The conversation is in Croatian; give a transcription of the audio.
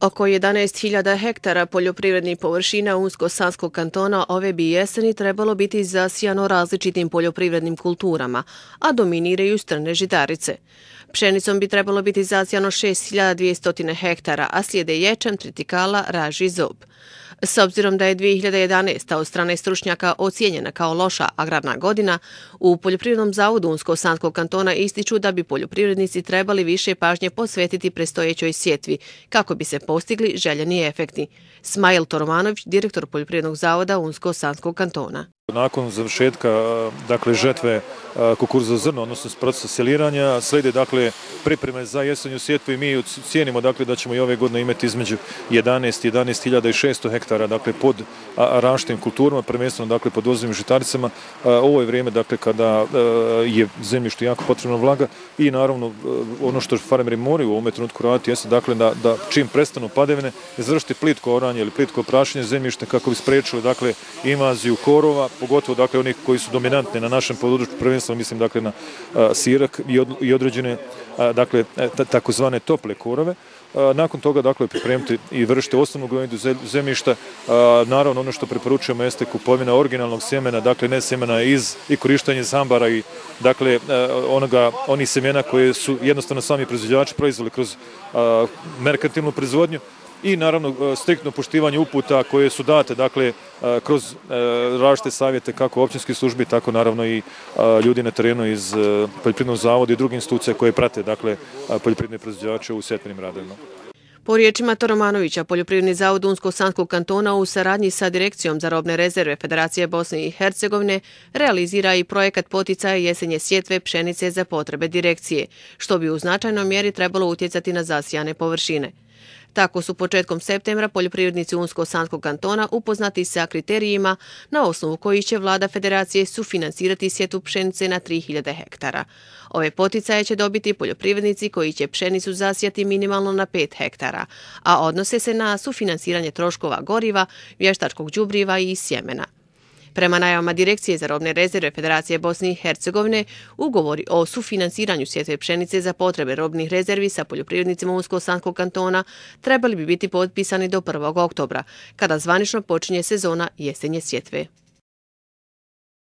Oko 11.000 hektara poljoprivrednih površina Unsko-Sanskog kantona ove bi jeseni trebalo biti zasijano različitim poljoprivrednim kulturama, a dominiraju strne žitarice. Pšenicom bi trebalo biti zasijano 6.200 hektara, a slijede ječam, tritikala, raž i zob. S obzirom da je 2011. od strane stručnjaka ocijenjena kao loša agrarna godina, u Poljoprivrednom zavodu Unsko-Sanskog kantona ističu da bi poljoprivrednici trebali više pažnje posvetiti predstojećoj sjetvi, kako bi se postigli željeni efekti. Smajl Toromanović, direktor Poljoprivrednog zavoda Unsko-Sanskog kantona. Nakon završetka žetve kukuruza zrno, odnosno procesa seliranja, slijede pripreme za jesenju sjetvu i mi cijenimo da ćemo i ove godine imati između 11.600 hektara pod raštim kulturama, prvenstveno pod ozimim žitaricama. Ovo je vrijeme kada je zemljištu jako potrebna vlaga i naravno ono što farmeri moraju u ovom trenutku raditi jeste da čim prestanu padavine izvršiti plitko oranje ili plitko prašenje zemljišta kako bi spriječili invaziju korova, pogotovo onih koji su dominantni na našem području, prvenstveno mislim na sirak i određene takozvane tople korove. Nakon toga pripremiti i vršiti osnovnu gnojidbu zemljišta. Naravno ono što preporučujemo jeste kupovina originalnog sjemena, ne sjemena i korištenje zambara i onih sjemena koje su jednostavno sami proizvođači proizveli kroz merkantilnu proizvodnju. I naravno striktno poštivanje uputa koje su date kroz različite savjete kako općinskih službi, tako naravno i ljudi na terenu iz Poljoprivrednog zavoda i drugih institucija koje prate poljoprivredne proizvođače u sjetvenim radovima. Po riječima Toromanovića, Poljoprivredni zavod Unsko-Sanskog kantona u saradnji sa Direkcijom za robne rezerve Federacije Bosne i Hercegovine realizira i projekat poticaja jesenje sjetve pšenice za potrebe direkcije, što bi u značajnoj mjeri trebalo utjecati na zasijane površine. Tako su početkom septembra poljoprivrednici Unsko-Sanskog kantona upoznati sa kriterijima na osnovu kojih će vlada federacije sufinansirati sjetvu pšenice na 3.000 hektara. Ove poticaje će dobiti poljoprivrednici koji će pšenicu zasijati minimalno na 5 hektara, a odnose se na sufinansiranje troškova goriva, vještačkog đubriva i sjemena. Prema najavama Direkcije za robne rezerve Federacije Bosne i Hercegovine, ugovori o sufinansiranju sjetve pšenice za potrebe robnih rezervi sa poljoprivrednicima Unsko-Sanskog kantona trebali bi biti potpisani do 1. oktobra, kada zvanično počinje sezona jesenje sjetve.